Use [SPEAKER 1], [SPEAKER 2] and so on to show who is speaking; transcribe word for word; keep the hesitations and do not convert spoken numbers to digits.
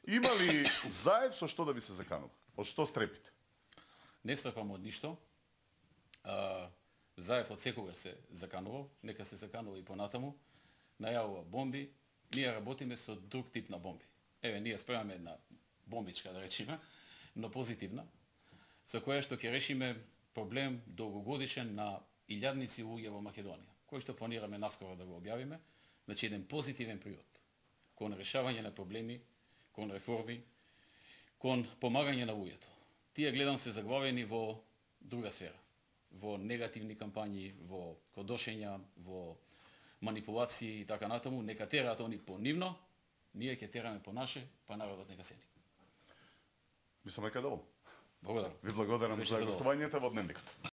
[SPEAKER 1] Има ли Заев со што да би се заканува? Од што стрепите?
[SPEAKER 2] Не стрепам од ништо. А, Заев од секогаш се заканувал, нека се заканува и понатаму. Најавува бомби, ние работиме со друг тип на бомби. Еве, ние спремаме една бомбичка, да речеме, но позитивна, со која што ќе решиме проблем долгогодишен на илјадници луѓе во Македонија, кој што планираме наскоро да го објавиме, значи еден позитивен приод кон решавање на проблеми, кон реформи, кон помагање на луѓето. Тие гледам се заглавени во друга сфера, во негативни кампањи, во кодошења, во манипулации и така натаму, нека тераат они по нивно, ние ќе тераме по наше, па народот нека сени.
[SPEAKER 1] Мислам дека доволно.
[SPEAKER 2] Благодарам.
[SPEAKER 1] Ви благодарам за гостувањето во Дневникот.